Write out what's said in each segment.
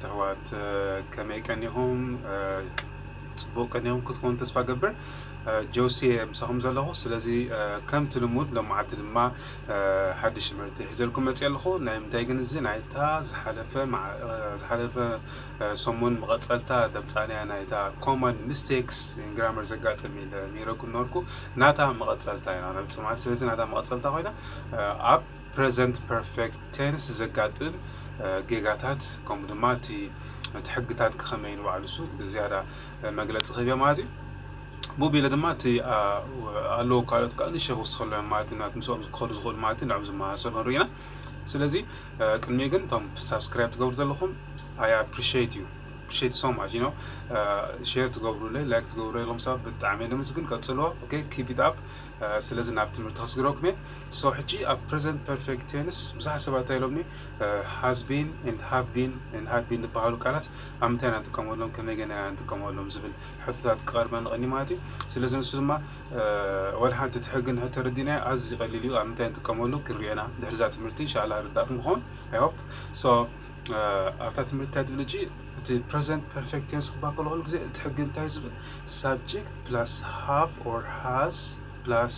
ኣሕዋት፣ ከመይ ቀኒኹም? ጽቡቕ ቀኒኹም ክትኮኑ ተስፋ ገብር። ጆሲ ምሳኹም ዘለኹ። ስለዚ ከምቲ ልሙድ ሎማዓንቲ ድማ ሓድሽ ትምህርቲ ሒዘልኩም መፅእ ኣለኹ። ናይ ምንታይ ግን እዚ ናይታ ዝሓለፈ ዝሓለፈ ሰሙን መቐፀልታ ደምፃንያ ናይታ common mistakes in grammar ዘጋጥም ኢለ ነይረኩም ነበርኩ። ናታ መቐፀልታ ኢና ነብፅእ ማለት። ስለዚ ናታ መቐፀልታ ኮይና ኣብ present perfect tense ዘጋጥም ጌጋታት፣ ከምኡ ድማ እቲ ሕግታት ከመይ ንባዕሉ እሱ ብዝያዳ መግለፂ ክህብ ማለት እዩ። ብኡ ቢለ ድማ እቲ ኣለዉ ካልኦት ከዓ ንሸ ክውስኸሎም ማለት እዩ። ምስኦም ክኸዱ ዝኽእሉ ማለት እዩ። ንዕም ዝመሳሰሉ ንርኢ ኢና። ስለዚ ቅድሚ ግን እቶም ሳብስክራይብ ትገብሩ ዘለኹም I appreciate you, appreciate so much, you know, share ትገብሩለይ፣ like ትገብሩ ዘለኹም ሰባት ብጣዕሚ ደምስግን፣ ቀጽልዎ። Okay, keep it up. ስለዚ ናብ ትምህርቲ ከስግረኩም እየ። So ሕጂ ኣብ present perfect tense ብዙሓት ሰባት እንታይ ኢሎምኒ፣ has been and have been and had been ዝበሃሉ ቃላት ኣብ ምንታይ ኢና ንጥቀመሎም፣ ከመይ ገና ኢና ንጥቀመሎም ዝብል ሕቶታት ክቐርበ ንቐኒ ማለት እዩ። ስለዚ ንሱ ድማ ወላ ሓንቲ እቲ ሕጊ እንድሕር ተረዲእናዮ ኣዝዩ ቀሊል እዩ። ኣብ ምንታይ ንጥቀመሉ ክንሪኦ ኢና ድሕሪ እዛ ትምህርቲ፣ ኢንሻላህ ርዳእኩም ክኸውን። I hope so። ኣብታ ትምህርቲ እንታይ ትብል ሕጂ፣ እቲ present perfect tense ክበሃል ከሎ ኩሉ ግዜ እቲ ሕጊ እንታይ ዝብል፣ subject plus have or has plus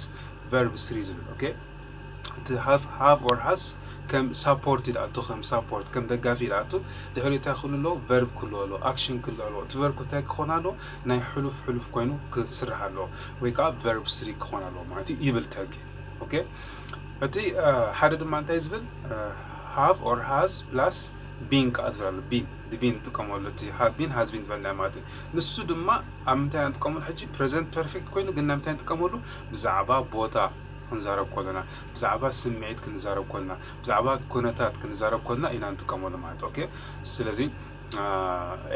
verb three ዝብል። Okay፣ እቲ have or has ከም support ይድኣቱ፣ ከም support ከም ደጋፊ ይድኣቱ። ድሕሪ እንታይ ክህሉ ኣለዎ? Verb ክህሉ ኣለዎ፣ action ክህሉ ኣለዎ። እቲ verb እንታይ ክኾን ኣለዎ? ናይ ሕሉፍ ሕሉፍ ኮይኑ ክስራሕ ኣለዎ፣ ወይ ከዓ verb three ክኾን ኣለዎ ማለት እዩ ይብል እቲ ሕጊ። Okay፣ እቲ ሓደ ድማ እንታይ ዝብል፣ have or has plus been ከዓ ዝብል ኣሎ። Been፣ been ንጥቀመሉ፣ እቲ have been has been ዝበልና ማለት እዩ። ንሱ ድማ ኣብ ምንታይ ኢና ንጥቀመሉ ሕጂ? Present perfect ኮይኑ ግን ናይ ምንታይ ንጥቀመሉ? ብዛዕባ ቦታ ክንዛረብ ከለና፣ ብዛዕባ ስምዒት ክንዛረብ ከለና፣ ብዛዕባ ኩነታት ክንዛረብ ከለና ኢና ንጥቀመሉ ማለት። Okay፣ ስለዚ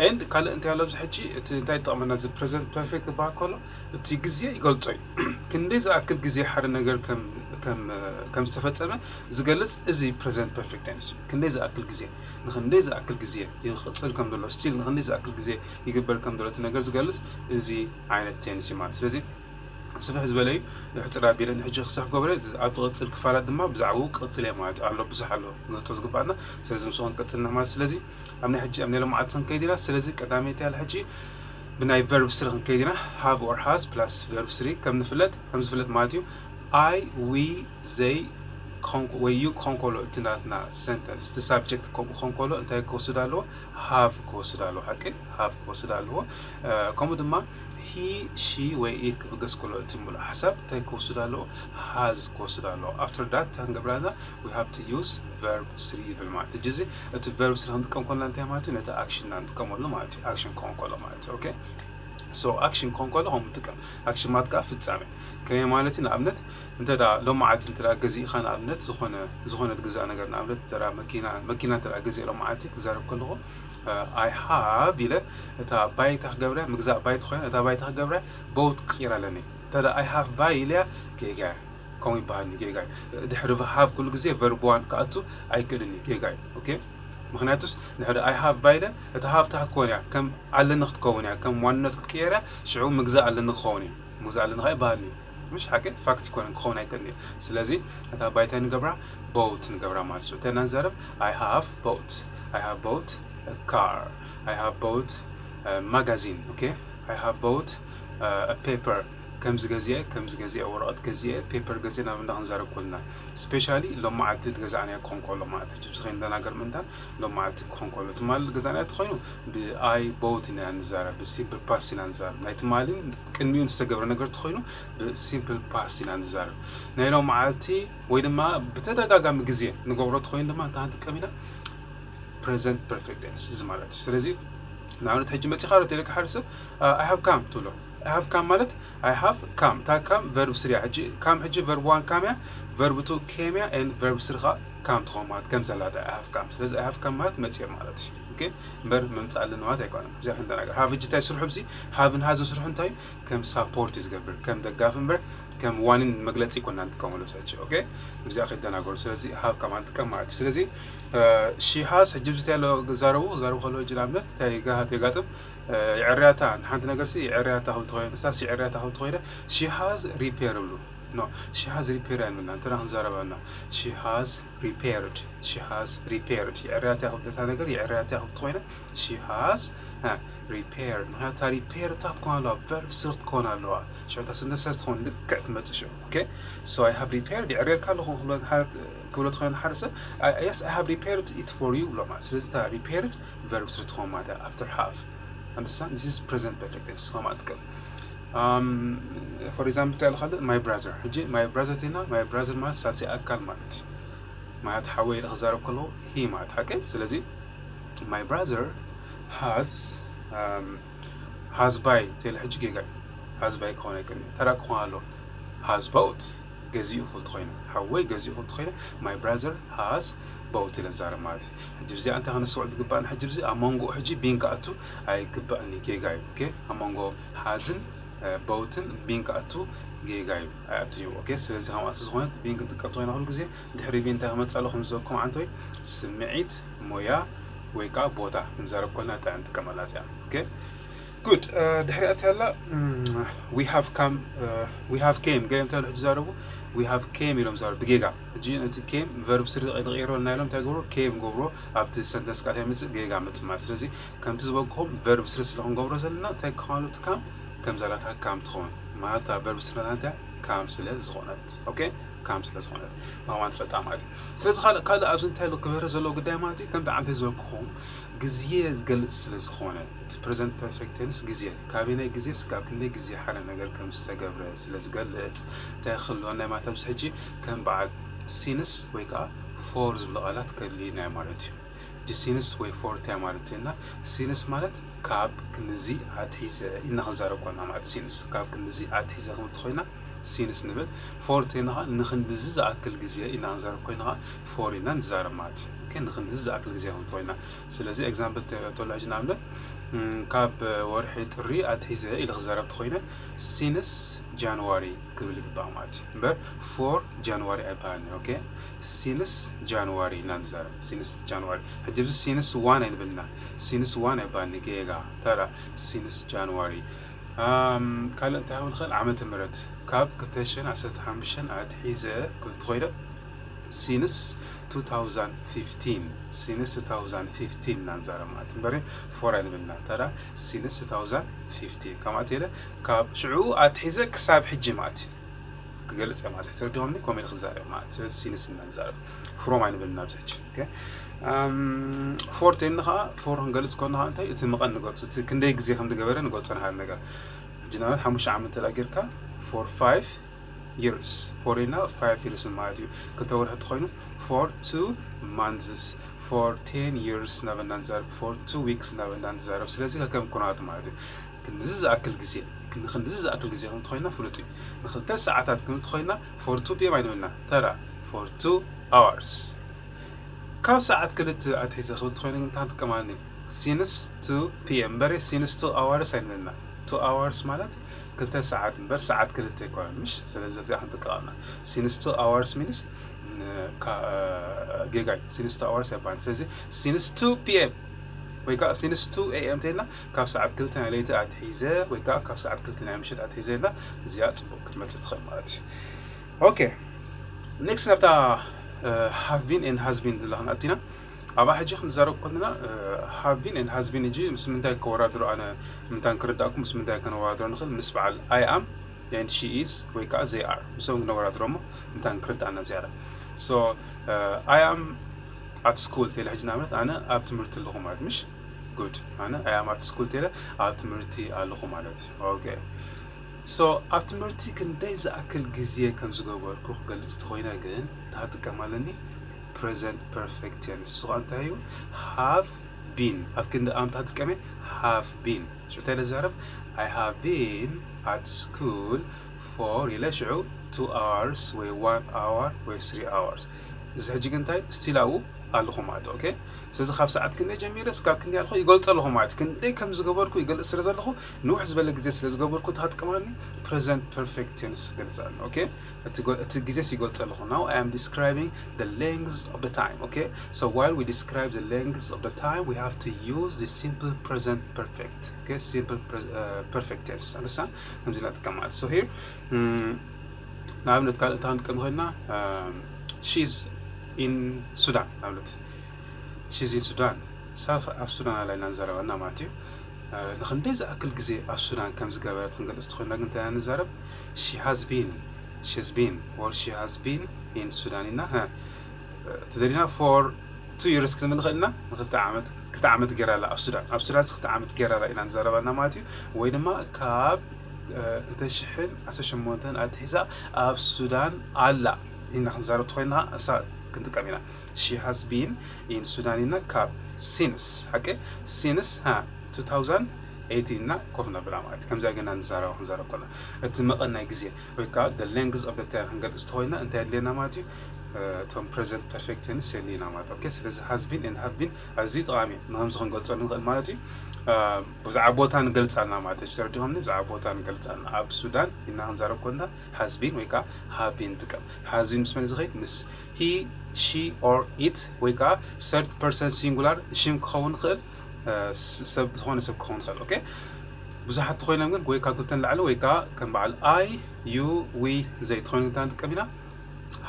and ካልእ እንታይ ኣሎ ኣብዚ ሕጂ? እቲ እንታይ ይጠቕመና? እዚ present perfect ክበሃል ከሎ እቲ ግዜ ይገልጾ እዩ። ክንደይ ዝኣክል ግዜ ሓደ ነገር ከም ዝተፈጸመ ዝገልጽ እዚ present perfect tense እዩ። ክንደይ ዝኣክል ግዜ፣ ንክንደይ ዝኣክል ግዜ ይቕጽል ከም ዘሎ፣ still ንክንደይ ዝኣክል ግዜ ይግበር ከም ዘሎ እቲ ነገር ዝገልጽ እዚ ዓይነት tense እዩ ማለት። ስለዚ ስፍሕ ዝበለ እዩ። ሕፅር ኣቢለ ንሕጂ ክሳዕ ክገብረ ኣብ ዝቕፅል ክፋላት ድማ ብዛዕባኡ ክቕፅል እየ ማለት ኣሎ። ብዙሕ ኣሎ ንገልፆ ዝግባኣና። ስለዚ ምስኡ ክንቅፅል ኢና ማለት። ስለዚ ኣብ ናይ ሕጂ ኣብ ናይ ሎማዓልቲ ክንከይድ ኢና። ስለዚ ቀዳመይቲ ያለ ሕጂ ብናይ verb three ክንከይድ ኢና። Have or has plus verb three ከም ንፍለጥ ከም ዝፍለጥ ማለት እዩ። I, we፣ they ወይ you ክኾን ከሎ እቲ ናትና sentence እቲ subject ከምኡ ክኾን ከሎ እንታይ ክወስድ ኣለዎ? Have ክወስድ ኣለዎ። ሓቂ? Have ክወስድ ኣለዎ። ከምኡ ድማ he፣ she ወይ it ክብገስ ከሎ እቲ ሙሉእ ሓሳብ እንታይ ክወስድ ኣለዎ? Has ክወስድ ኣለዎ። After that እንታይ ክንገብር ኣለና? We have to use verb three ይብል ማለት እዩ። እዚ እቲ verb three ክንጥቀም ከለና እንታይ ማለት እዩ? ነቲ action ኢና ንጥቀመሉ ማለት እዩ። Action ክኾን ከሎ ማለት እዩ። Okay፣ so action ክኾን ከሎ ከምኡ ንጥቀም። Action ማለት ከዓ ፍጻሜ። ከመይ ማለት እዩ? ንኣብነት እንተ ደኣ ሎማዓልቲ እንተ ደኣ ገዚእኻ፣ ንኣብነት ዝኾነ ዝኾነ ትግዛእ ነገር፣ ንኣብነት እንተ ደኣ መኪና መኪና እንተ ደኣ ገዚአ ሎማዓልቲ ክዛረብ ከለኹ I have ኢለ እታ ባይታ ክገብራ፣ ምግዛእ ባይታ ኮይና እታ ባይታ ክገብራ bought ክቕይራ ኣለኒ። እንተ ደኣ I have buy ኢለያ ጌጋ እያ። ከምኡ ይበሃልኒ፣ ጌጋ እዩ። ድሕሪ have ኩሉ ግዜ verb one ክኣቱ ኣይክእልን እዩ፣ ጌጋ እዩ። Okay፣ ምኽንያቱስ ድሕሪ I have buy ኢለ እታ have ትሓት ክኾን እያ፣ ከም ኣለኒ ክትከውን እያ፣ ከም ዋንነት ክትቅየር እያ። ሽዑ ምግዛእ ኣለኒ ክኸውን እዩ። ምግዛእ ኣለኒ ከዓ ይበሃልኒ እዩ። ምሽ ሓቂ? Fact ይኮነን፣ ክኸውን ኣይክእልን እዩ። ስለዚ እታ ባይታ ንገብራ bought ንገብራ ማለት እዩ። እንታይ ኢና ንዛረብ? I have bought, I have bought a car, I have bought a magazine። Okay፣ I have bought a paper፣ ከምዚ ገዚአ፣ ከምዚ ገዚአ፣ ወረቐት ገዚአ፣ paper ገዚአ ናብ እንዳ ክንዛረብ ከለና፣ specially ሎማዓልቲ ዝገዛእናዮ ክኾን ከሎ ማለት እዩ። ችፕስ ከይንደናገር ምእንታን ሎማዓልቲ ክኾን ከሎ፣ ትማሊ ዝገዛእናዮ ተኾይኑ ብ I bought ኢና ንዛረብ፣ ብ simple past ኢና ንዛረብ። ናይ ትማሊን ቅድሚኡን ዝተገብረ ነገር ተኾይኑ ብ simple past ኢና ንዛረብ። ናይ ሎማዓልቲ ወይ ድማ ብተደጋጋሚ ግዜ ንገብሮ ተኾይኑ ድማ እንታይ ክንጥቀም ኢና? Present perfect tense እዚ ማለት እዩ። ስለዚ ንኣብነት ሕጂ መፂኻ ዶ ተይለካ ሓደ ሰብ I have come ትብሎ። I have come ማለት I have come፣ እታ come verb three እያ። ሕጂ come ሕጂ verb one come እያ፣ verb two came እያ፣ and verb three ከዓ come ትኾን ማለት ከም ዘላታ I have come። ስለዚ I have come ማለት መፂኦ ማለት እዩ። Okay፣ እምበር ምምፃእ ኣለኒ ማለት ኣይኮነን። እዚኣ ክንደናገር። Have ሕጂ እንታይ ስርሑ? እዚ have ን has ን ስርሑ እንታይ እዩ? ከም support እዩ ዝገብር፣ ከም ደጋፊ እምበር ከም ዋኒን መግለፂ ይኮና ንጥቀመሉ ሰች። Okay፣ እዚኣ ከይደናገሩ። ስለዚ have come ንጥቀም ማለት እዩ። ስለዚ she has ሕጂ ብዝታይ ኣሎ ዛረቡ ዛረቡ ከሎ ሕጂ ንኣብነት እንታይ ጋሃት የጋጥም? የዕርያታ ንሓንቲ ነገር ሲ የዕርያታ ክብል ተኾይኑ፣ ንሳ ሲ የዕርያታ ክብል ተኾይነ she has repair ይብሉ። No, she has repaired ኣይንብልና። እንተ ክንዛረበና she has repaired, she has repaired። የዕርያት ያኽል እታ ነገር የዕርያት ያኽል ተኾይነ she has repaired። ምክንያቱ እታ repaired እታ ክትኮን ኣለዋ፣ verb ስሪ ክትኮን ኣለዋ። ሽዑ እታ sentence ትኾን ልክዕ ትመጽእ ሽዑ። Okay? So I have repaired፣ የዕርየልካ ኣለኹ ክብሎ ተኾይነ ሓደ ሰብ፣ yes, I have repaired it for you ብሎ ማለት። ስለዚ እታ repaired verb ስሪ ትኾን ማለት እያ after have። Understand? This is present perfect tense። ከማት ትቀል for example እንታይ ኢልካ? My brother። ሕጂ my brother ቴና my brother ማለት ሳልሳይ ኣካል ማለት እዩ። ማለት ሓወይ ኢለ ክዛረብ ከለኹ he ማለት ሓቀይ። ስለዚ my brother has has buy ቴለ ሕጂ ጌጋ እዩ። Has buy ክኾን ኣይክእልን እዩ። ተራ ክኾን ኣለዎ። Has bought ገዚኡ ክብል ተኾይነ፣ ሓወይ ገዚኡ ክብል ተኾይነ my brother has bought ኢለ ዛረብ ማለት እዩ። ሕጂ ብዚኣ እንታይ ከነስተውዕል ዝግባእና? ሕጂ ብዚ ኣብ መንጎ ሕጂ been ክኣቱ ኣይግባእን እዩ፣ ጌጋ እዩ። Okay? ኣብ መንጎ has ን bought ን been ክኣቱ ጌጋ እዩ፣ ኣይኣቱን እዩ። Okay? ስለዚ ከምኣ ዝኾነት been ክንጥቀም ተኾይና ኩሉ ግዜ ድሕሪ been እንታይ ክመጽእ ኣሎ? ከም ዝበልኩም ዓንቶይ ስምዒት፣ ሞያ ወይ ከዓ ቦታ ክንዛረብ ኮልና እንታይ ንጥቀመላ እዚኣ። Okay? Good። ድሕሪኣ እንታይ ኣላ? We have come, we have came ገለ እንታይ ኢሉ ዝዛረቡ? We have came ኢሎም ዛረቡ ብጌጋ። ሕጂ ነቲ came verb ስሪ ንቕይሮ እና ኢሎም እንታይ ገብሩ? Came ገብሩ። ኣብቲ sentence ቃል ይመጽእ ጌጋ መጽእ ማለት። ስለዚ ከምቲ ዝበልኩኹም verb ስሪ ስለ ክንገብሮ ዘለና እንታይ ክኾን እቲ come? ከምዛ ላታ come ትኸውን ማለት verb ስሪ ናታ እንታይ? Come ስለ ዝኾነት። Okay? Come ስለ ዝኾነት ብኸማን ትፈልጣ ማለት እዩ። ስለዚ ካልእ ካልእ ኣብዚ እንታይ ኢሉ ክበርህ ዘለዎ ጉዳይ ማለት እዩ? ከምቲ ዓንተ ዝበልኩኹም ግዜ ዝገልጽ ስለ ዝኾነ እቲ present perfect tense ግዜ ካበየናይ ግዜ ስጋብ ክንደይ ግዜ ሓደ ነገር ከም ዝተገብረ ስለ ዝገልጽ እንታይ ክህልወና ማለት ኣብዚ ሕጂ ከም በዓል since ወይ ከዓ for ዝብሉ ቃላት ከድልዩና ማለት እዩ። ሕጂ since ወይ for እንታይ ማለት እና since ማለት ካብ ክንዚ ኣትሒዘ ኢልና ክንዛረብ ኮና ማለት since ካብ ክንዚ ኣትሒዘ ክምቲ ኮይና since ንብል for ተይና ንክንድዚ ዝኣክል ግዜ ኢልና ክንዛረብ ኮይና for ኢና ንዛረብ ማለት እዩ። ንክንድዚ ዝኣክል ግዜ ክምቲ ኮይና ስለዚ example ተሎ ሕጂ ንኣብነት ካብ ወርሒ ጥሪ ኣትሒዘ ኢለ ክዛረብ ተኮይነ since January ክብል ይግባእ ማለት እዩ። እምበር for January ኣይበሃልን። Okay? Since January ኢና ንዛረብ። Since January። ሕጂ ብዚ since one ኣይንብልና። Since one ኣይበሃልን። ጌጋ። ተራ since January። ካልእ እንታይ ክብል ንኽእል? ዓመተ ምህረት ካብ ክልተ ሽሕን ዓሰርተ ሓሙሽተን ኣትሒዘ ክብል ተኮይነ since two thousand fifteen since two thousand fifteen ኢና ንዛረብ ማለት እምበሪ for ኣይንብልና። ተራ since two thousand fifteen ከምኣ ተለ ካብ ሽዑ ኣትሒዘ ክሳብ ሕጂ ማለት እዩ ክገልጽ ማለት እዩ። ተረዲኹምኒ? ከምኡ ኢለ ክዛረብ ማለት ስለዚ since ኢና ንዛረብ from ኣይንብልና ኣብዚ ሕጂ። Okay? for ተይኒ ከዓ for ክንገልጽ ኮና ከዓ እንታይ እቲ መቐን ንገልጹ እቲ ክንደይ ግዜ ከም ዝገበረ ንገልጾ ንሃል ነገር ሕጂ ንኣብነት ሓሙሽተ ዓመት እንተ ጌርካ for five years for ኢልና five years ማለት እዩ። ክልተ ወርሒ እንተኮይኑ for two months for ten years እናበልና ንዛረብ for two weeks እናበልና ንዛረብ። ስለዚ ከከም ኩነታቱ ማለት እዩ። ክንድዚ ዝኣክል ግዜ ንክንድዚ ዝኣክል ግዜ ከም እንተኮይና ፍሉጥ እዩ። ንክልተ ሰዓታት ከም እንተኮይና for two p.m. ኣይንብልና ተራ for two hours ካብ ሰዓት ክልተ ኣትሒዘ ክብል እንተኮይኑ እንታይ ንጥቀማኒ since two p.m. እምበሪ since two hours ኣይንብልና። Two hours ማለት ክልተ ሰዓት እምበር ሰዓት ክልተ ኣይኮነን ምሽ? ስለዚ ኣብዚኣ ክንጥቀም ኣለና። Since two hours means ጌጋ እዩ። Since two hours ኣይበሃል። ስለዚ since two p.m. ወይ ከዓ since two a.m. ተይልና ካብ ሰዓት ክልተ ናይ ለይቲ ኣትሒዘ ወይ ከዓ ካብ ሰዓት ክልተ ናይ ምሸት ኣትሒዘ ኢልና እዚኣ ፅቡቅ ክትመፅእ ትኽእል ማለት እዩ። Okay, next ናብታ have been and has been ዝብላ ክንኣቱ ኢና። ኣብኣ ሕጂ ክንዛረብ ከለና have been and has been ሕጂ ምስ ምንታይ ከወዳድሮ ኣነ ምንታይ ክርዳእኩም ምስ ምንታይ ከነወዳድሮ ንኽእል ምስ በዓል I am and she is ወይ ከዓ they are ምስኦም ክነወዳድሮ እሞ ምንታይ ክርዳእና ዝያዳ። So I am at school ተለ ሕጂ ንኣብነት ኣነ ኣብ ትምህርቲ ኣለኹ ማለት ምሽ? Good ኣነ I am at school ተለ ኣብ ትምህርቲ ኣለኹ ማለት እዩ። Okay so ኣብ ትምህርቲ ክንደይ ዝኣክል ግዜ ከም ዝገበርኩ ክገልጽ ተኾይነ ግን እንታይ ክጥቀም ኣለኒ? Present perfect tense ንሱ ከዓ እንታይ እዩ? Have been ኣብ ክንዲ ኣምታ ጥቀመ have been ሽዑ እንታይ ኢለ ዝዛረብ? I have been at school for ኢለ ሽዑ two hours ወይ one hour ወይ three hours እዚ ሕጂ ግን እንታይ still ኣብኡ ኣለኹ ማለት okay ስለዚ ካብ ሰዓት ክንደይ ጀሚረ ስካብ ክንደይ ኣለኹ ይገልፀ ኣለኹ ማለት ክንደይ ከም ዝገበርኩ ይገልፅ ስለ ዘለኹ ንውሕ ዝበለ ግዜ ስለ ዝገበርኩ እንታይ ክጥቀም ኣለኒ? Present perfect tense ክገልፅ ኣለኒ okay እቲ ግዜስ ይገልፀ ኣለኹ now I am describing the length of the time okay so while we describe the length of the time we have to use the simple present perfect okay simple perfect tense understand ከምዚ ንጥቀም ማለት so here ንኣብነት ካልእ እንታይ ክንጥቀም ንኽእልና? She's in Sudan። ንኣብነት she's in Sudan፣ እሳ ኣብ ሱዳን ኣላ ኢና ንዛረበና ማለት እዩ። ንክንደይ ዝኣክል ግዜ ኣብ ሱዳን ከም ዝገበረት ክንገልጽ ተኾይና ግን እንታይ ንዛረብ? She has been፣ she's been or she has been in Sudan ኢልና። ተዘዲና for two years ክንብል ንኽእልና። ንክልተ ዓመት ክልተ ዓመት ገይራ ኣላ ኣብ ሱዳን። ኣብ ሱዳን ክልተ ዓመት ገይራ ኣላ ኢና ንዛረባና ማለት እዩ። ወይ ድማ ካብ ክልተ ሽሕን ዓሰርተ ሸሞንተን ኣትሒዛ ኣብ ሱዳን ኣላ ኢልና ክንዛረብ ተኾይና እሳ ክንጥቀም ኢና። She has been in Sudan ኢልና ካብ since፣ ሓቂ፣ since two thousand eighteen ኢልና ኮፍ ነብላ ማለት እዩ። ከምዚኣ ገና ንዛረባ ክንዛረብ ከለና እቲ መቐን ናይ ግዜ ወይ ከዓ the length of the time ክንገልጽ ተኾይና እንታይ ኣድልየና ማለት እዩ? እቶም present perfect tense የድልየና ማለት እዩ። ኦኬ፣ ስለዚ has been and have been ኣዝዩ ጠቓሚ እዩ። ንከምዚ ክንገልጸሉ ንኽእል ማለት እዩ። ብዛዕባ ቦታ ንገልጻልና ማለት እዩ። ተረዲኹምኒ? ብዛዕባ ቦታ ንገልጻልና። ኣብ ሱዳን ኢልና ክንዛረብ ኮንና has been ወይ ከዓ have been ንጥቀም። Has been ምስ መን ዝኸይድ? ምስ he, she or it ወይ ከዓ third person singular ሽም ክኸውን ይኽእል፣ ሰብ፣ ዝኾነ ሰብ ክኸውን ይኽእል። ኦኬ፣ ብዙሓት ተኾይኖም ግን ወይ ካብ ክልተ ንላዕሊ ወይ ከዓ ከም በዓል I, you, we፣ they ተኾይኑ እንታይ ንጥቀም ኢና?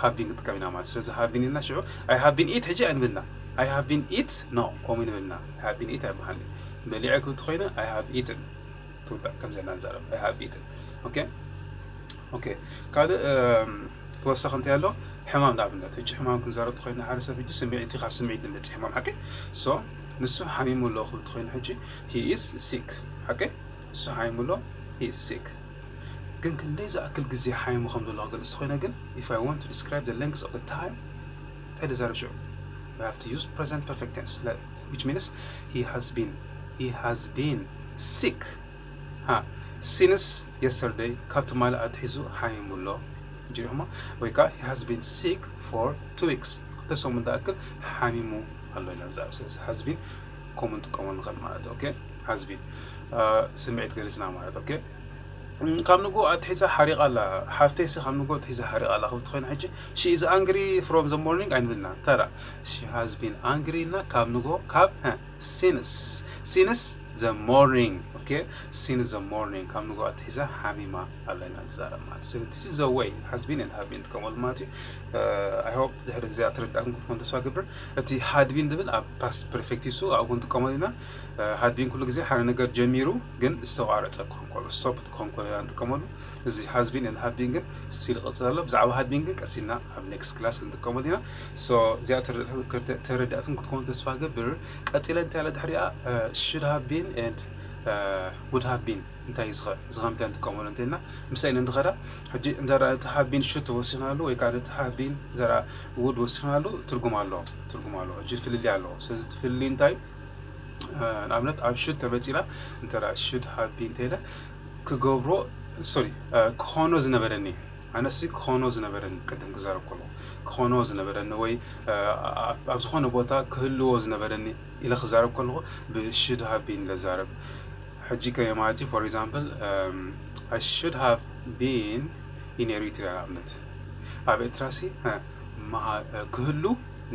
Have been ንጥቀም ኢና ማለት። ስለዚ have been ኢልና ሽዑ I have been eat ሕጂ ኣይንብልና። I have been eat፣ no፣ ከምኡ ንብልና። I have been eat ኣይበሃልን። በሊዐ ክብል ተኾይነ I have eaten ትውዳእ። ከምዚ ኢና ንዛረብ፣ I have eaten። ኦኬ፣ ኦኬ። ካልእ ተወሳኺ እንታይ ኣሎ? ሕማም ንኣብነት። ሕጂ ሕማም ክንዛረብ ተኾይና ሓደ ሰብ ሕጂ ስምዒት እዩ፣ ካብ ስምዒት ዝመጽእ ሕማም፣ ሓቂ? So ንሱ ሓሚሙ ኣሎ ክብል ተኾይኑ ሕጂ he is sick፣ ሓቂ? ንሱ ሓሚሙ ኣሎ፣ he is sick። ግን ክንደይ ዝኣክል ግዜ ሓሚሙ ከም ዘሎ ክገልጽ ተኾይነ ግን if I want to describe the length of the time እንታይ ዝዛረብ ሽዑ? We have to use present perfect tense, which means he has been, he has been sick ሃ፣ since yesterday፣ ካብ ትማሊ ኣትሒዙ ሓሚሙ ኣሎ። ጅሪኹማ? ወይ ከዓ he has been sick for two weeks፣ ክልተ ሰሙን ዝኣክል ሓሚሙ ኣሎ ኢና ንዛረብ። ስለዚ has been ከምኡ ንጥቀመሉ ንኽእል ማለት እዩ። ኦኬ፣ has been ስምዒት ገሊጽና ማለት። ኦኬ፣ ካብ ንጎ ኣትሒዛ ሓሪቓ ኣላ። ሓፍተይሲ ካብ ንጎ ኣትሒዛ ሓሪቓ ኣላ ክብል ተኾይና ሕጂ she is angry from the morning ኣይንብልና። ተራ she has been angry ኢልና ካብ ንጎ ካብ since፣ since the morning። ኦኬ፣ since the morning ካብ ንጎ ኣትሒዛ ሓሚማ ኣላ ኢና ንዛረብ ማለት። ስለዚ this is the way has been and have been ንጥቀመሉ ማለት እዩ። I hope ድሕሪ እዚኣ ተረዳእኩም ክትኮን ተስፋ ገብር። እቲ had been ዝብል ኣብ past perfect እዩ፣ ኣብኡ ክንጥቀመሉ ኢና። Had been ኩሉ ግዜ ሓደ ነገር ጀሚሩ ግን ዝተቋረጸ ክኾን ከሎ፣ stop ክኾን ከሎ ኢና ንጥቀመሉ። እዚ has been and have been ግን still ይቕጽል ኣሎ። ብዛዕባ had been ግን ቀስ ኢልና ኣብ next class ክንጥቀመሉ ኢና። So እዚኣ ተረዳእትን ክትኮኑ ተስፋ ገብር። ቀጺለ እንታይ ኣለ ድሕሪኣ? Should have been and would have been እንታይ እዩ ዝኸ-፣ እዚ ከም እንታይ ንጥቀመሉ እንተልና ምሳይ ንድኸዳ። ሕጂ እንተ እቲ have been should ተወሲኽናሉ ወይ ከዓ ነቲ have been እንተ would ወሲኽናሉ ትርጉም ኣለዎ፣ ትርጉም ኣለዎ። ሕጂ ፍልልይ ኣለዎ። ስለዚ እቲ ፍልልይ እንታይ? ንኣብነት ኣብ should ተመጺና እንተ should have been እንተኢለ ክገብሮ፣ ሶሪ፣ ክኾኖ ዝነበረኒ፣ ኣነሲ ክኾኖ ዝነበረኒ፣ ቅድም ክዛረብ ከለኹ ክኾኖ ዝነበረኒ ወይ ኣብ ዝኾነ ቦታ ክህልዎ ዝነበረኒ ኢለ ክዛረብ ከለኹ ብ should have been ኢለ ዝዛረብ። ሕጂ ከመይ ማለት እዩ? For example I should have been in Eritrea ንኣብነት፣ ኣብ ኤርትራሲ ክህሉ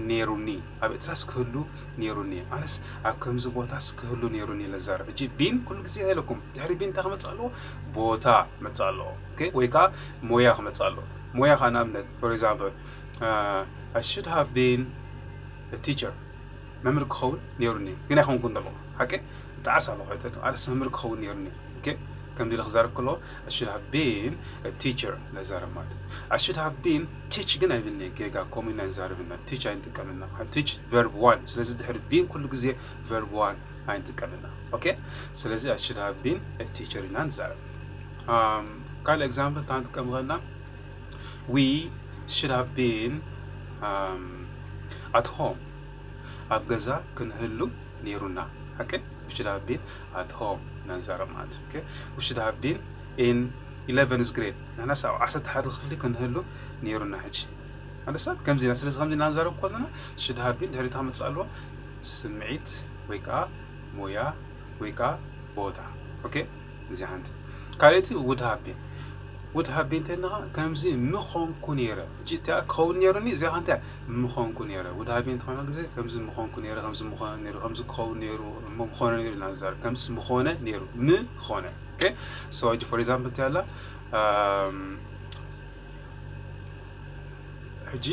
ነይሩኒ፣ ኣብ ኤርትራስ ክህሉ ነይሩኒ፣ ኣነስ ኣብ ከምዚ ቦታስ ክህሉ ነይሩኒ ኢለ ዝዛረብ። ሕጂ been ኩሉ ግዜ ኢለኩም ድሕሪ been እንታይ ክመጽእ ኣለዎ? ቦታ ክመጽእ ኣለዎ። ኦኬ፣ ወይ ከዓ ሞያ ክመጽእ ኣለዎ። ሞያ ከዓ ንኣብነት for example I should have been a teacher፣ መምህር ክኸውን ነይሩኒ ግን ኣይኮንኩን ዘለኹ። ሓቂ? ይጠዓስ ኣለኹ ሕቶ። ኣነስ መምህር ክኸውን ነይሩኒ። ኦኬ፣ ከምዚ ኢለ ክዛረብ ከለኹ I should have been a teacher ኢለ ዝዛረብ ማለት እዩ። I should have been teach ግን ኣይብልን እየ፣ ጌጋ። ከምኡ ኢና ንዛረብ ኢና። Teach ኣይንጥቀምን ኢና። Teach verb one። ስለዚ ድሕሪ been ኩሉ ግዜ verb one ኣይንጥቀምን ኢና። ኦኬ፣ ስለዚ I should have been a teacher ኢና ንዛረብ። ካልእ example እንታይ ንጥቀም ንኽእል ኢና? We should have been at home፣ ኣብ ገዛ ክንህሉ ነይሩና። ሓቂ? We should have been at home ኢና ንዛረብ ማለት እዩ። ኦኬ፣ we should have been in eleventh grade፣ ንሕናስ ኣብ ዓሰርተ ሓደ ክፍሊ ክንህሉ ነይሩና። ሕጂ ኣንደርስታንድ? ከምዚ ኢና። ስለዚ ከምዚ ኢና ንዛረብ ከለና should have been ድሕሪታ ክመጽእ ኣለዎ ስምዒት ወይ ከዓ ሞያ ወይ ከዓ ቦታ። ኦኬ፣ እዚ ሓንቲ። ካልኣይቲ would have been። Would have been እንተልና ከምዚ ምኾንኩ ነይረ። ሕጂ እቲኣ ክኸውን ነይሩኒ፣ እዚኣ ከ እንታይ? ምኾንኩ ነይረ። Would have been ዝኾነ ግዜ ከምዚ ምኾንኩ ነይረ፣ ከምዚ ምኾነ ነይሩ፣ ከምዚ ክኸውን ነይሩ፣ እሞ ምኾነ ነይሩ ኢና ንዛረብ። ከምዚ ምኾነ ነይሩ፣ ምኾነ። ኦኬ፣ so ሕጂ for example እንታይ ኣላ? ሕጂ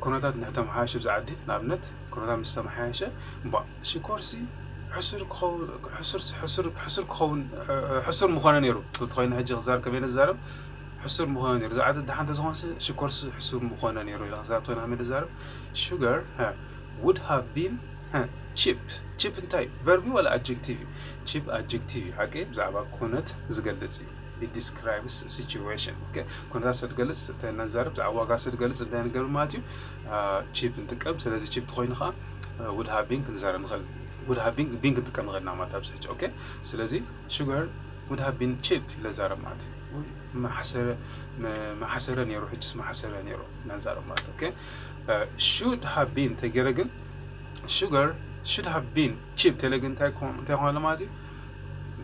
ኩነታት እንድሕር ተመሓየሸ ብዛ ዓዲ፣ ንኣብነት ኩነታት ምስ ተመሓየሸ፣ እምባ ሽኮርሲ ሕሱር ክኸውን፣ ሕሱር፣ ሕሱር፣ ሕሱር ክኸውን፣ ሕሱር ምኾነ ነይሩ። እንተኾይኑ ሕጂ ክዛረብ ከመይ ንዛረብ? ሕሱር ምኾነ ነይሩ። እዛ ዓዲ ደሓን ተዝኾንሲ ሽኮርሲ ሕሱር ምኾነ ነይሩ ኢለ ክዛረብ ተኾይነ ከመይ ንዛረብ? Sugar would have been cheap። Cheap እንታይ? ቨርብ እዩ ወላ ኣጀክቲቭ እዩ? Cheap ኣጀክቲቭ እዩ። ሓቂ ብዛዕባ ኩነት ዝገልጽ እዩ። It describes situation። ኦኬ፣ ኩነታት ስለ ዝገልጽ እንታይ ንዛረብ? ብዛዕባ ዋጋ ስለ ዝገልጽ እንታይ ንገብር ማለት እዩ? ቺፕ ንጥቀም። ስለዚ ቺፕ ተኾይኑ ከዓ ውድ ሃቭ ቢን ክንዛረብ ንኽእል። ውድ ሃቭ ቢን፣ ቢን ክንጥቀም ንኽእል ኢና ማለት ኣብዚ ሕጂ። ኦኬ፣ ስለዚ sugar would have been cheap ኢለ ዛረብ ማለት እዩ። ውይ፣ መሓሰረ፣ መ-፣ መሓሰረ ነይሩ፣ ሕጅስ መሓሰረ ነይሩ ኢና ንዛረብ ማለት። ኦኬ፣ should have been ተገይረ ግን sugar should have been cheap ተለ ግን እንታይ ክኾን፣ እንታይ ክኾን ኣሎ ማለት እዩ?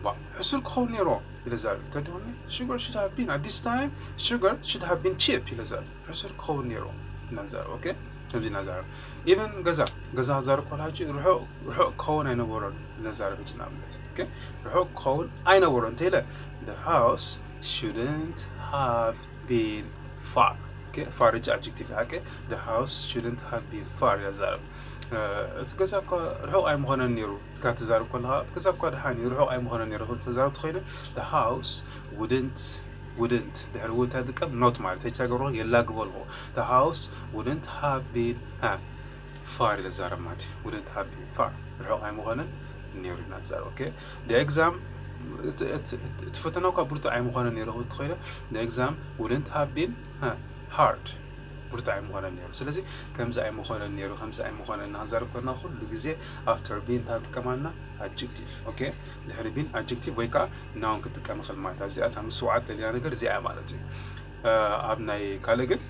ባ፣ ሕሱር ክኸውን ነይሩ ኢለ ዛረብ። ተደሆኒ sugar should have been፣ at this time sugar should have been cheap ኢለ ዛረብ። ሕሱር ክኸውን ነይሩ ኢና ንዛረብ። ኦኬ፣ ከምዚ ኢና ንዛረብ። ኢቨን ገዛ፣ ገዛ ክዛረብ ከሎ ሕጂ ርሑቕ፣ ርሑቕ ክኸውን ኣይነበሮን ኢና ንዛረብ። ሕጂ ንኣብነት፣ ኦኬ፣ ርሑቕ ክኸውን ኣይነበሮን እንተኢለ፣ the house shouldn't have been far። ኦኬ፣ ፋር ሕጂ ኣጀክቲቭ እዩ። ሓቂ፣ the house shouldn't have been far ኢለ ዛረብ። እ፣ እቲ ገዛ እኳ ርሑቕ ኣይምኾነን ነይሩ ኢልካ ትዛረብ ከለኻ፣ እቲ ገዛ እኳ ደሓን እዩ፣ ርሑቕ ኣይምኾነን ነይሩ ክብል ተዛረብ ተኾይነ፣ the house wouldn't፣ wouldn't ድሕሪ ውድ እንታይ ጥቀም? ኖት ማለት። ሕጂ ተገብሮ የላግቦ ኣለኹ። The house wouldn't have been፣ እ፣ far ኢለ ዛረብ ማለት እዩ። Wouldn't have been far፣ ርሑቕ ኣይምኾነን ነይሩ ኢና ንዛረብ። ኦኬ፣ the exam፣ እቲ፣ እቲ፣ እቲ፣ እቲ ፈተና እኳ ብርቱዕ ኣይምኾነን ነይሩ ክብል ተኾይነ፣ the exam wouldn't have been፣ እ፣ hard፣ ብርቱዕ ኣይምኾነን ነይሩ። ስለዚ ከምዚ ኣይምኾነን ነይሩ፣ ከምዚ ኣይምኾነን እናዛረብ ከለና ኩሉ ግዜ ኣፍተር ቢን እንታይ ትጥቀማልና? ኣጀክቲቭ። ኦኬ፣ ድሕሪ ቢን ኣጀክቲቭ ወይ ከዓ ናውን ክትጥቀም ይኽእል ማለት። ኣብዚኣ እታ ምስዋዓት ደሊና ነገር እዚኣ እያ ማለት እዩ። እ፣ ኣብ ናይ ካልእ ግን፣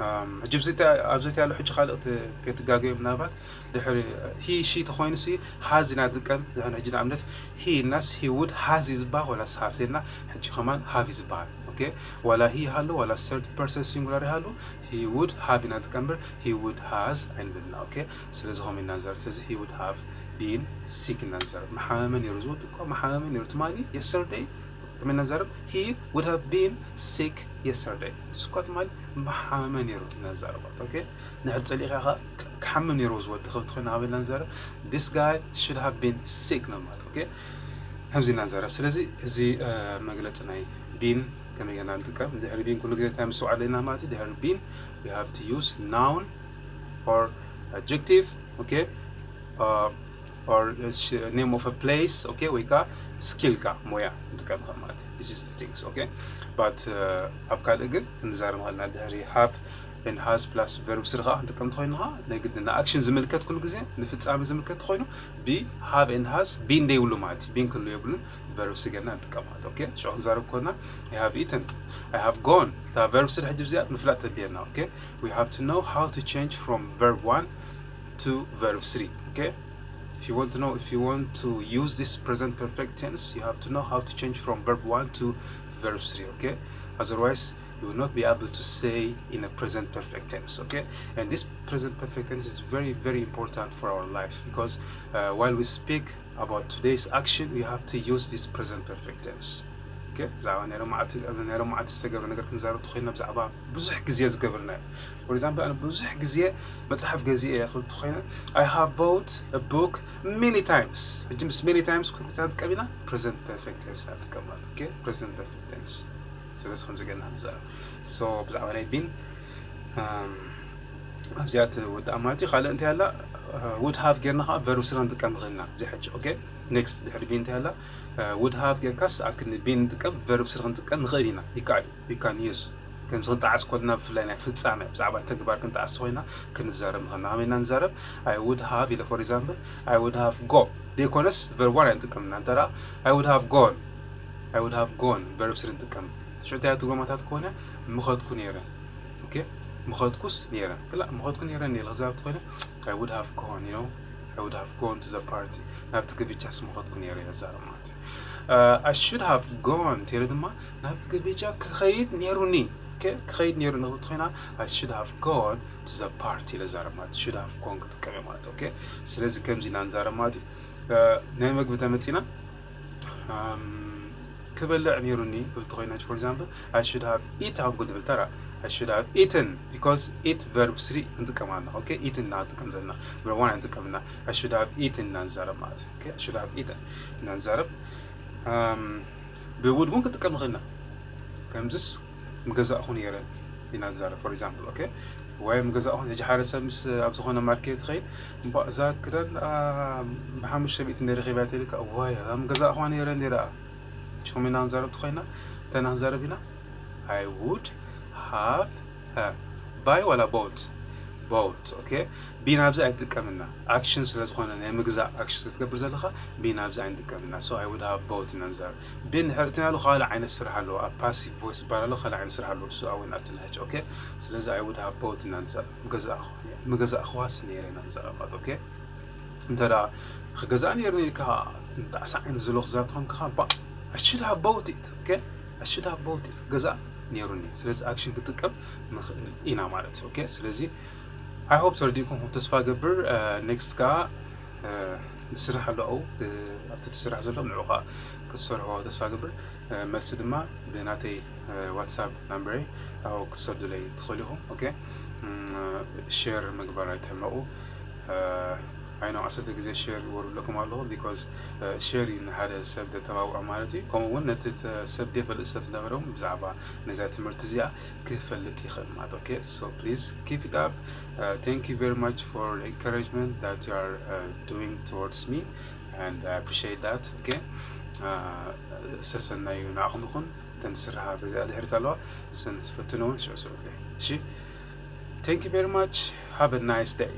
እም፣ ሕጂ ኣብዚ ተ-፣ ኣብዚ ያለው ሕጂ ካልእ ክት-፣ ክትጋገዩ ምናልባት ድሕሪ ሂ ሺ ተኾይኑ ሲ ሃዝ ኢና ዝጥቀም። ንሕን ሕጂ ንኣብነት ሂ ኢልናስ ሂ ውድ ሃዝ እዩ ዝበሃል ወላስ ሃቭ ተልና? ሕጂ ከማን ሃቭ እዩ ዝበሃል። ኦኬ፣ ዋላ ሂ ይሃሉ ዋላ ሰርድ ፐርሰን ሲንጉላር ይሃሉ ሂ ውድ ሃቭ ኢና ንጥቀም እምበር ሂ ውድ ሃዝ ኣይንብልና። ኦኬ፣ ስለዚ ከምኡ ኢና ንዛረብ። ስለዚ ሂ ውድ ሃቭ ቢን ሲክ ኢና ንዛረብ። መሓመመ ነይሩ ዝወድ እኮ መሓመመ ነይሩ ትማሊ የስተርደይ ከመይ ኢና ንዛረብ? He would have been sick yesterday። እሱ እኳ ትማሊ መሓመመ ነይሩ ኢና ንዛረብ ማለት። ኦኬ፣ ንድሕር ጸሊእካ ኢኻ ክ-፣ ክሓምም ነይሩ ዝወዲ ክብል ተኾይኑ ኣበይ ኢና ንዛረብ? This guy should have been sick ነው ማለት። ኦኬ፣ ከምዚ ኢና ንዛረብ። ስለዚ እዚ፣ እ፣ መግለጺ ናይ ቢን ከመይ ጌርና ንጥቀም? ድሕሪ ቢን ኩሉ ግዜ እንታይ ምስትውዓል ኣለና ማለት እዩ? ድሕሪ ቢን we have to use noun or adjective። ኦኬ፣ እ፣ or name of a place። ኦኬ፣ ወይ ከዓ ስኪል ካ ሞያ ንጥቀም ከም ማለት እዩ። This is the things። ኦኬ፣ but፣ እ፣ ኣብ ካልእ ግን ክንዛረብ ንኽእል ኢና። ድሕሪ ሃቭ ኤንድ ሃዝ ፕላስ ቨርብ ስሪ ከዓ ክንጥቀም እንተኾይኑ ከዓ ናይ ግድን ንኣክሽን ዝምልከት ኩሉ ግዜ ንፍጻሜ ዝምልከት ተኾይኑ ቢ ሃቭ ኤንድ ሃዝ ቢን ደይብሉ ማለት እዩ። ቢን ክህሉ የብሉን፣ ቨርብ ስሪ ጌርና ንጥቀም ማለት። ኦኬ፣ ሽዑ ክንዛረብ ከለና I have eaten፣ I have gone፣ እታ ቨርብ ስሪ ሕጂ ብዚኣ ምፍላጥ ተድልየና። ኦኬ፣ we have to know how to change from verb one to verb three። ኦኬ፣ if you want to know, if you want to use this present perfect tense, you have to know how to change from verb one to verb three. Okay, otherwise you will not be able to say in a present perfect tense. Okay, and this present perfect tense is very, very important for our life because, uh, while we speak about today's action, we have to use this present perfect tense. ኦኬ፣ ብዛዕባ ናይ ሎማዓቲ፣ ናይ ሎማዓቲ ዝተገብረ ነገር ክንዛረብ ተኾይና ብዛዕባ ብዙሕ ግዜ ዝገብርናዮ። For example፣ ኣነ ብዙሕ ግዜ መጽሓፍ ገዚኤ እየ ክብል ተኾይነ፣ I have bought a book many times። ሕጂ ምስ many times ኩሉ ግዜ ንጥቀም ኢና፣ present perfect tense ኢና ንጥቀም ማለት። ኦኬ፣ present perfect tense። ስለዚ ከምዚ ጌርና ንዛረብ። So ብዛዕባ ናይ ቢን፣ እም፣ ኣብዚኣ ትወድኣ ማለት እዩ። ካልእ እንታይ ኣላ? እ፣ ውድ ሃቭ ጌርና ከዓ ቨርብ ስሪ ክንጥቀም ንኽእል ኢና። እዚ ሕጂ፣ ኦኬ፣ ኔክስት ድሕሪ ቢን እንታይ ኣላ? እ፣ ውድ ሃቭ ጌርካስ ኣብ ክንዲ ቢን ንጥቀም፣ ቨርብ ስሪ ክንጥቀም ንኽእል ኢና። ይከኣል እዩ። We can use። ከምዚ ክንጠዓስ ከለና ብፍላይ ናይ ፍጻመ፣ ብዛዕባ ተግባር ክንጠዓስ ኮይና ክንዛረብ ንኽእል ኢና። ከመይ ኢና ንዛረብ? I would have ኢለ፣ for example፣ I would have go ዘይኮነስ ቨርብ ዋን ኣይንጥቀምና። እንተ ደኣ I would have gone፣ I would have gone ቨርብ ስሪ ንጥቀም። ሽዑ እንታይ ትርጉማታት ከሆነ ምኸድኩ ነይረ። ኦኬ፣ ምኸድኩስ ነይረ። ክላ ምኸድኩ ነይረ እንደ ኢለ ክዛረብ ተኾይነ፣ I would have gone፣ you know፣ I would have gone to the party። ናብቲ ግብቻስ ምኸድኩ ነይረ ኢለ ክዛረብ ማለት እዩ። እ፣ I should have gone እንተ ኢለ ድማ ናብቲ ግብቻ ክኸይድ ነይሩኒ። ኦኬ፣ ክኸይድ ነይሩኒ ክብል ተኾይና፣ I should have gone to the party ኢለ ክዛረብ ማለት እዩ። Should have gone ክጥቀም እየ ማለት እዩ። ኦኬ፣ ስለዚ ከምዚ ኢና ንዛረብ ማለት እዩ። እ፣ ናይ መግቢ ተመጺና፣ እም፣ ክበልዕ ነይሩኒ ክብል ተኾይና፣ for example፣ I should have eaten፣ ኣንጎ ድብል ተራ፣ I should have eaten, because eat verb three ክንጥቀም ኣለና። Okay, eaten ኢና ክንጥቀም ዘለና፣ verb one ኣይንጥቀምና። I should have eaten ኢና ንዛረብ ማለት እዩ። Okay, I should have eaten ኢና ንዛረብ። Um, ብ would እውን ክጥቀም ንኽእል ኢና። ከምዚስ ምገዛእኹ ነይረ ኢና ንዛረብ፣ for example። Okay፣ ወይ ምገዛእኹ፣ ሕጂ ሓደ ሰብ ምስ ኣብ ዝኾነ ማርኬት ይኸይድ፣ እምባ እዛ ክዳን ብሓሙሽተ ሚእቲ እንደ ረኺባ ትልካ፣ ዋይ እዛ ምገዛእኹዋ ነይረ እንደ ደኣ ሽኹም ኢና ንዛረብ ተኾይና፣ እንታይ ኢና ክንዛረብ ኢና? I would have, buy ዋላ bought? Bought። Okay፣ be ናብዚ ኣይንጥቀምና፣ action ስለ ዝኾነ፣ ናይ ምግዛእ action ስለ ትገብር ዘለኻ፣ be ናብዚ ኣይንጥቀምና። So I would have bought ኢና ንዛረብ። Be እንድሕር እትናሉ ካልእ ዓይነት ስራሕ ኣለዎ፣ ኣብ passive voice ይባላሉ፣ ካልእ ዓይነት ስራሕ ኣለዎ፣ እሱ ኣብኡ ንኣቱ ንሕጂ። Okay፣ ስለዚ I would have bought ኢና ንዛረብ። ምገዛእኹ-፣ ምገዛእኹዋስ ነይረ ኢና ንዛረብ ማለት። Okay፣ እንተ ደኣ ክገዛእ ነይሩኒ ኢልካ ጣዕሳ ዓይነት ዘሎ ክዛረብ ተኾንካ፣ ባ፣ I should have bought it። Okay፣ I should have bought it፣ ክገዛእ ነይሩኒ። ስለዚ action ክጥቀም ንኽእል ኢና ማለት እዩ። Okay፣ ስለዚ I hope ተረዲእኩም ከም ተስፋ ገብር። Next ከኣ ትስራሕ ኣሎ፣ ኣብኡ ኣብቲ ትስራሕ ዘሎ ንዑ ከኣ ክትሰርሖ ተስፋ ገብር። መልሲ ድማ ብናተይ WhatsApp number ይ ኣብኡ ክትሰዱለይ ትኽእሉ ኢኹም። Okay፣ share ምግባር ኣይትሕመቑ። I know ዓሰርተ ግዜ share ግበሩ ኣለኩም ኣለኹ፣ because share እዩ ንሓደ ሰብ ዘተባብዖ ማለት እዩ። ከምኡ እውን ነቲ ሰብ ዘይፈልጥ ሰብ ዝነበረ እውን ብዛዕባ ነዛ ትምህርቲ እዚኣ ክፈልጥ ይኽእል ማለት። Okay፣ so please keep it up. Thank you very much for the encouragement that you are doing towards me, and I appreciate that። Okay፣ ሰሰናዩ ንዓኹም ይኹን። እተን ዝስርሓ በዚኣ ድሕሪት ኣለዋ፣ እሰን ዝፈትነውን ሽዑ ስርሑለይ። እሺ፣ thank you very much, have a nice day።